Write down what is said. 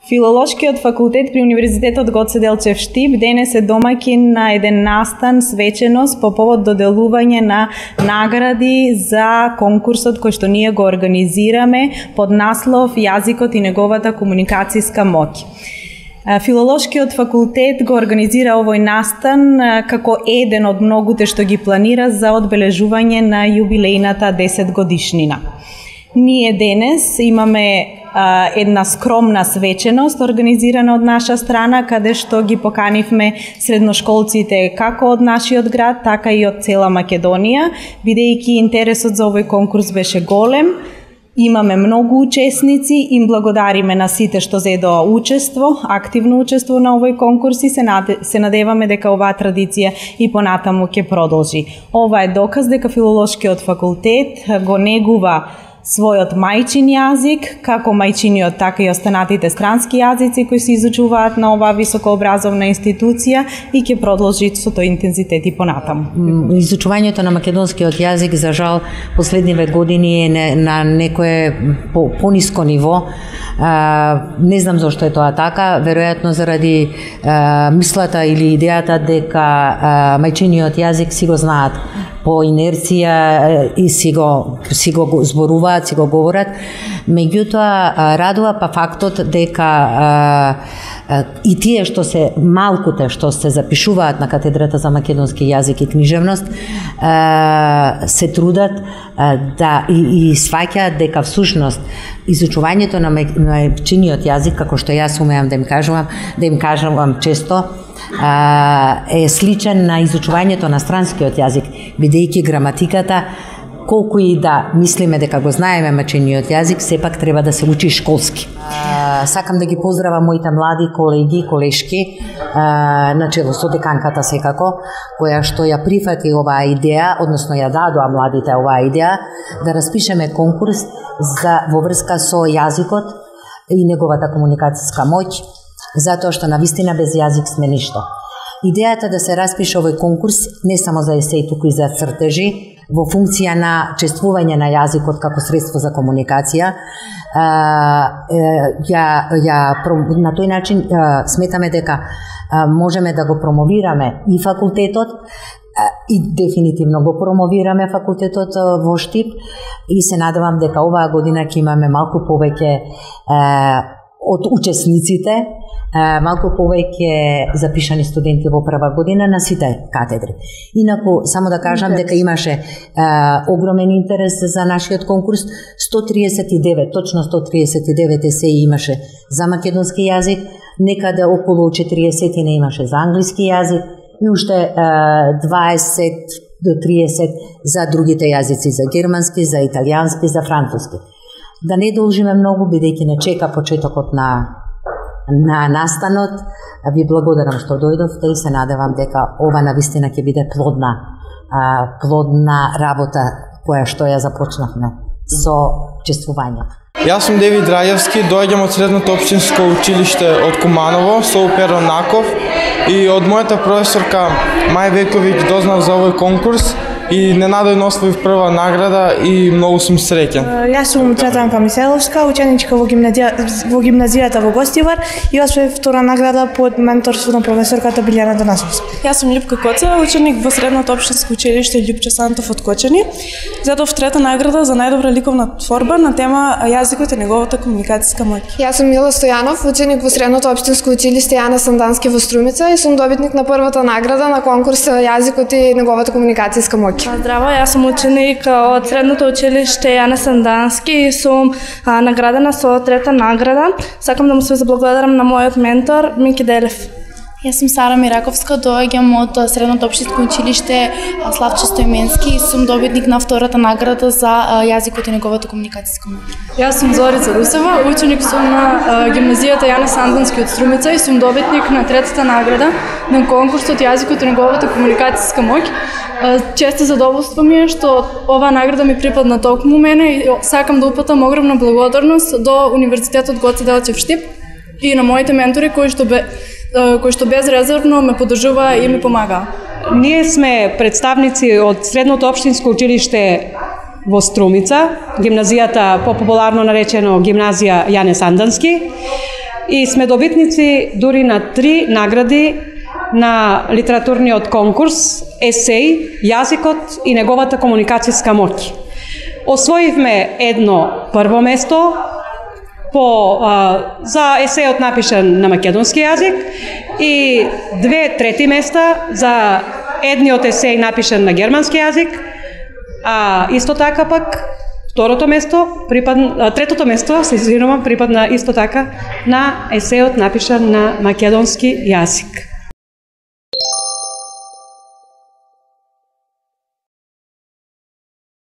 Филолошкиот факултет при Универзитетот Гоце Делчев Штип денес е домаќин на еден настан свеченост по повод доделување на награди за конкурсот кој што ние го организираме под наслов Јазикот и неговата комуникацијска моќ. Филолошкиот факултет го организира овој настан како еден од многуте што ги планира за одбележување на јубилејната 10 годишнина. Ние денес имаме една скромна свеченост организирана од наша страна, каде што ги поканивме средношколците како од нашиот град, така и од цела Македонија, бидејќи интересот за овој конкурс беше голем. Имаме многу учесници, им благодариме на сите што зедоа активно учество на овој конкурс и се надеваме дека оваа традиција и понатаму ќе продолжи. Ова е доказ дека Филолошкиот факултет го негува својот мајчин јазик, како мајчиниот, така и останатите странски јазици кои се изучуваат на оваа високообразовна институција и ќе продолжи со тој интензитет и понатаму. Изучувањето на македонскиот јазик, за жал, последниве години е на некое пониско ниво. Не знам зошто е тоа така, веројатно заради мислата или идејата дека мајчиниот јазик си го знаат по инерција и си го зборуваат, си го говорат. Меѓутоа, радува па фактот дека и тие што се малкуте што се запишуваат на катедрата за македонски јазик и книжевност се трудат да и сваќаат дека всушност изучувањето на мајчиниот јазик, како што јас умеам да им кажувам често, е сличен на изучувањето на странскиот јазик, бидејќи граматиката, колку и да мислиме дека го знаеме мајчиниот јазик, сепак треба да се учи школски. Сакам да ги поздравам моите млади колеги, колешки, начело со деканката секако, која што ја прифати оваа идеја, односно ја дадоа младите оваа идеја, да распишеме конкурс во врска со јазикот и неговата комуникацијска моќ, затоа што навистина без јазик сме ништо. Идејата да се распише овој конкурс не само за есеи, туку и за цртежи, во функција на чествување на јазикот како средство за комуникација, на тој начин сметаме дека можеме да го промовираме и факултетот, и дефинитивно го промовираме факултетот во Штип, и се надевам дека оваа година ќе имаме малку повеќе од учесниците, малку повеќе запишани студенти во прва година на сите катедри. Инаку, само да кажам дека имаше огромен интерес за нашиот конкурс. 139, точно 139 есеи имаше за македонски јазик, некаде околу 40 не имаше за англиски јазик и уште 20 до 30 за другите јазици, за германски, за италијански, за француски. Да не должиме многу, бидејќи не чека почетокот на настанот. Ви благодарам што дојдовте и се надевам дека ова навистина ќе биде плодна работа која што ја започнавме со чествување. Јас сум Девид Рајевски, доаѓам од средното општинско училиште од Куманово, со Перо Наков, и од мојата професорка Мај Вековиќ дознав за овој конкурс и ненадојно освоив прва награда и многу сум среќен. Јас сум Цветанка Миселовска, ученичка во гимназијата во Гостивар и освоив втора награда под менторство на професорката Билјана Танасовска. Јас сум Љупка Коцева, ученик во средното општинско училиште Љупче Сантов од Кочани. Зедов трета награда за најдобра ликовна творба на тема јазикот и неговата комуникацијска моќ. Јас сум Мила Стојанов, ученик во средното општинско училиште Јана Сандански во Струмица и сум добитник на првата награда на конкурс Јазикот и неговата комуникацијска моќ. Здраво, јас сум ученик од средното училиште Јана Сандански и сум наградена со трета награда. Сакам да му се заблагодарам на мојот ментор Мики Делев. Јас сум Сара Мираковска, доаѓам од средното општинско училиште Славчо Стојменски и сум добитник на втората награда за јазикот и неговата комуникацијска моќ. Јас сум Зорица Русева, ученик сум на гимназијата Јана Сандански од Струмица и сум добитник на третата награда на конкурсот Јазикот и неговата комуникацијска моќ. Често задоволство ми е што оваа награда ми припадна токму мене и сакам да упатам огромна благодарност до Универзитетот Гоце Делчев Штип и на моите ментори кои што безрезервно ме поддржуваа и ми помагаа. Ние сме представници од средното општинско училиште во Струмица, гимназијата популарно наречено гимназија Јане Сандански. и сме добитници дури на 3 награди на литературниот конкурс есеј, јазикот и неговата комуникацијска моќ. Освоивме едно прво место за есејот напишан на македонски јазик и 2 трети места за едниот есеј напишан на германски јазик, а исто така пак третото место, припадна исто така на есејот напишан на македонски јазик.